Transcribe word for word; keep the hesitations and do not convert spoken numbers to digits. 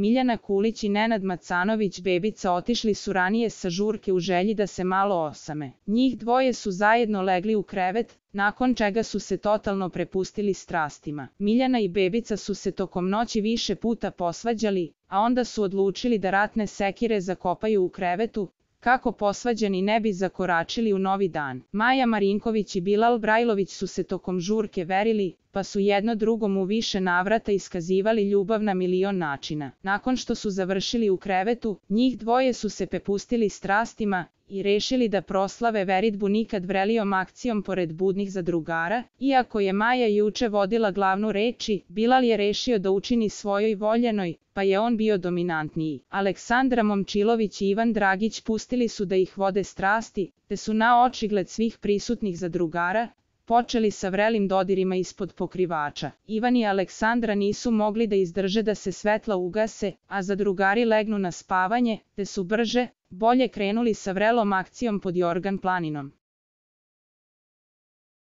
Miljana Kulić i Nenad Macanović Bebica otišli su ranije sa žurke u želji da se malo osame. Njih dvoje su zajedno legli u krevet, nakon čega su se totalno prepustili strastima. Miljana i Bebica su se tokom noći više puta posvađali, a onda su odlučili da ratne sekire zakopaju u krevetu, kako posvađani ne bi zakoračili u novi dan. Maja Marinković i Bilal Brajlović su se tokom žurke verili, pa su jedno drugom u više navrata iskazivali ljubav na milion načina. Nakon što su završili u krevetu, njih dvoje su se prepustili strastima i rešili da proslave veritbu nikad vrelijom akcijom pored budnih zadrugara. Iako je Maja juče vodila glavnu reči, Bilal je rešio da učini svojoj voljenoj, pa je on bio dominantniji. Aleksandra Momčilović i Ivan Dragić pustili su da ih vode strasti, te su na očigled svih prisutnih zadrugara počeli sa vrelim dodirima ispod pokrivača. Ivan i Aleksandra nisu mogli da izdrže da se svetla ugase, a zadrugari legnu na spavanje, te su brže, bolje krenuli sa vrelom akcijom pod Jorgan planinom.